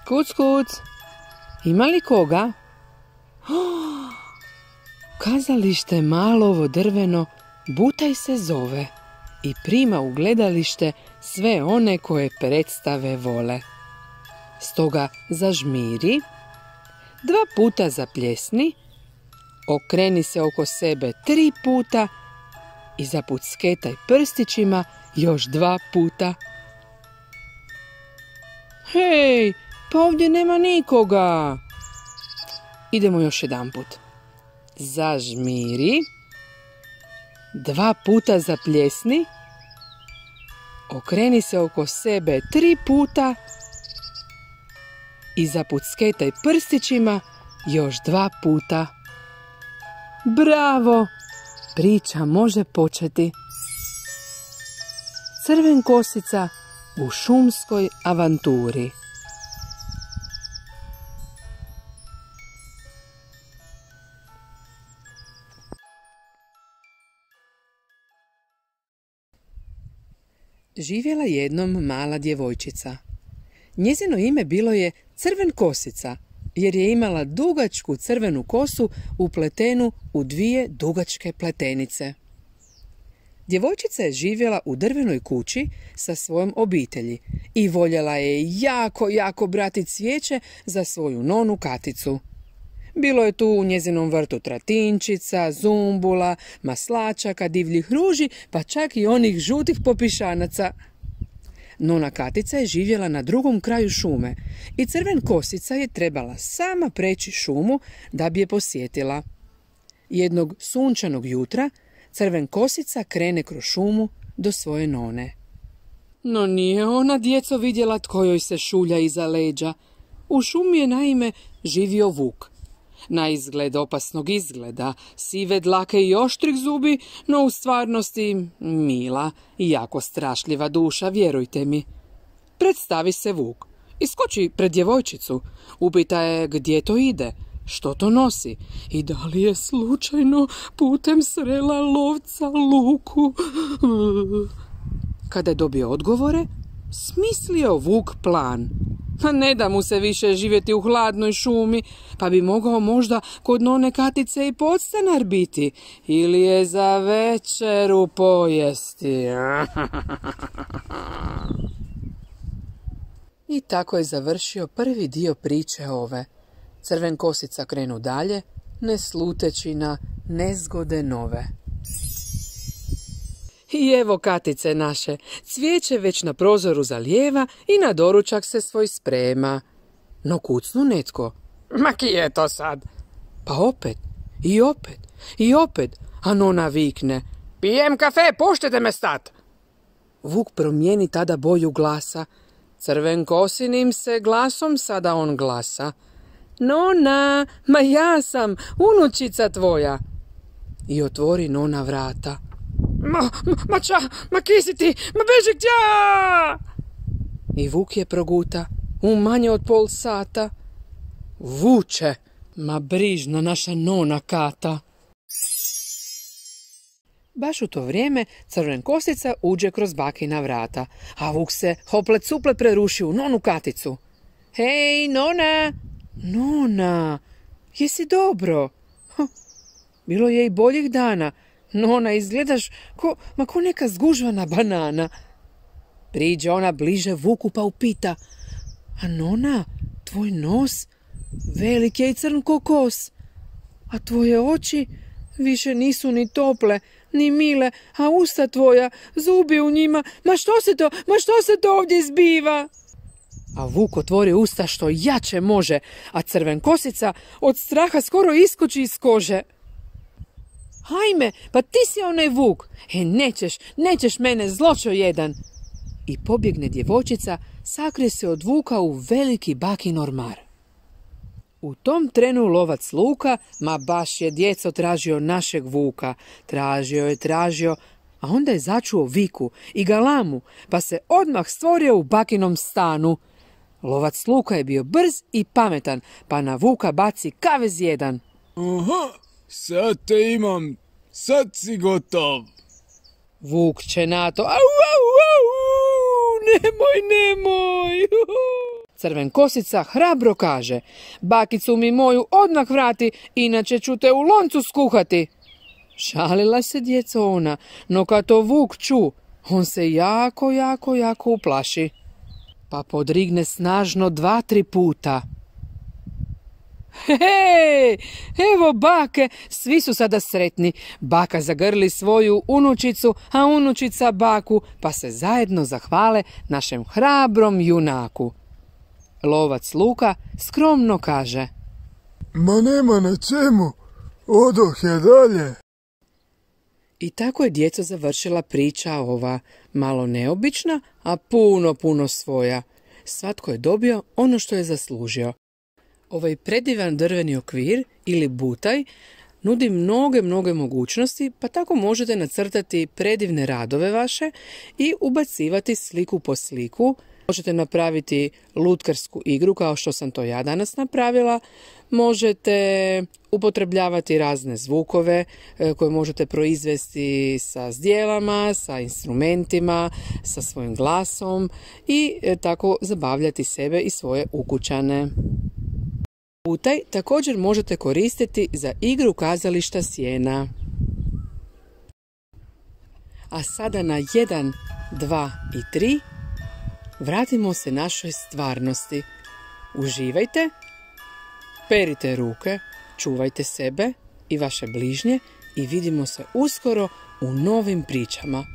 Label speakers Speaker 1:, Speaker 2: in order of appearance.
Speaker 1: Kuc, kuc, ima li koga? Kazalište Malovo drveno Butaj se zove i prima u gledalište sve one koje predstave vole. Stoga zažmiri, 2 puta zapljesni, okreni se oko sebe 3 puta i zapucketaj prstićima još 2 puta. Hej, pa ovdje nema nikoga. Idemo još jedanput. Zažmiri, 2 puta zapljesni, okreni se oko sebe 3 puta i zapucketaj prstićima još 2 puta. Bravo! Priča može početi. Crvenkosica u šumskoj avanturi. Živjela jednom mala djevojčica. Njezino ime bilo je Crvenkosica, jer je imala dugačku crvenu kosu upletenu u 2 dugačke pletenice. Djevojčica je živjela u drvenoj kući sa svojom obitelji i voljela je jako brati cvijeće za svoju nonu Katicu. Bilo je tu u njezinom vrtu tratinčica, zumbula, maslačaka, divljih ruži, pa čak i onih žutih popišanaca. Nona Katica je živjela na drugom kraju šume i Crvenkosica je trebala sama preći šumu da bi je posjetila. Jednog sunčanog jutra Crvenkosica krene kroz šumu do svoje none. No nije ona, djeco, vidjela tko joj se šulja iza leđa. U šumi je naime živio vuk. Na izgled opasnog izgleda, sive dlake i oštrih zubi, no u stvarnosti mila i jako strašljiva duša, vjerujte mi. Predstavi se vuk, iskoči pred djevojčicu, upita je gdje to ide, što to nosi i da li je slučajno putem srela lovca Luku. Kada je dobio odgovore, smislio vuk plan. Ne da mu se više živjeti u hladnoj šumi, pa bi mogao možda kod none Katice i podstanar biti, ili je za večeru pojesti. I tako je završio prvi dio priče ove. Crvenkosica krenu dalje, ne sluteći na nezgode nove. I evo Katice naše, cvijeće već na prozoru zalijeva i na doručak se svoj sprema. No kucnu netko. Ma ki je to sad? Pa opet, i opet, i opet, a nona vikne. Pijem kafe, puštite me stat. Vuk promijeni tada boju glasa. Crvenkosinim se glasom sada on glasa. Nona, ma ja sam, unučica tvoja. I otvori nona vrata. Ma ki si ti, ma beži gdje! I vuk je proguta, u manje od pol sata. Vuče, ma brižna naša nona Kata. Baš u to vrijeme Crvenkosica uđe kroz bakina vrata, a vuk se hoplet suplet preruši u nonu Katicu. Hej, nona! Nona, jesi dobro? Bilo je i boljih dana. Nona, izgledaš ko neka zgužvana banana. Priđe ona bliže vuku pa upita. A nona, tvoj nos velik je i crn ko kos. A tvoje oči više nisu ni tople, ni mile, a usta tvoja, zubi u njima. Ma što se to ovdje zbiva? A vuk otvori usta što jače može, a Crvenkosica od straha skoro iskoči iz kože. Hajme, pa ti si onaj vuk. Nećeš mene, zločo jedan. I pobjegne djevojčica, sakrije se od vuka u veliki bakin ormar. U tom trenu lovac Luka, ma baš je djeco tražio našeg vuka. Tražio, a onda je začuo viku i galamu, pa se odmah stvorio u bakinom stanu. Lovac Luka je bio brz i pametan, pa na vuka baci kavez jedan.
Speaker 2: Aha, sad te imam, sad si gotov.
Speaker 1: Vuk će na to, au, nemoj. Crvenkosica hrabro kaže: bakicu mi moju odmah vrati, inače ću te u loncu skuhati. Šalila se djeco ona, no kad to vuk ču, on se jako uplaši, pa podrigne snažno 2-3 puta. Hej, evo bake, svi su sada sretni. Baka zagrli svoju unučicu, a unučica baku, pa se zajedno zahvale našem hrabrom junaku. Lovac Luka skromno kaže:
Speaker 2: Ma nema na čemu, odoh je dalje.
Speaker 1: I tako je djeco završila priča ova, malo neobična, a puno svoja. Svatko je dobio ono što je zaslužio. Ovaj predivan drveni okvir ili butaj nudi mnoge mogućnosti, pa tako možete nacrtati predivne radove vaše i ubacivati sliku po sliku. Možete napraviti lutkarsku igru kao što sam to ja danas napravila. Možete upotrebljavati razne zvukove koje možete proizvesti sa zdjelama, sa instrumentima, sa svojim glasom i tako zabavljati sebe i svoje ukućane. Butaj također možete koristiti za igru kazališta sjena. A sada na 1, 2 i 3 vratimo se našoj stvarnosti. Uživajte, perite ruke, čuvajte sebe i vaše bližnje i vidimo se uskoro u novim pričama.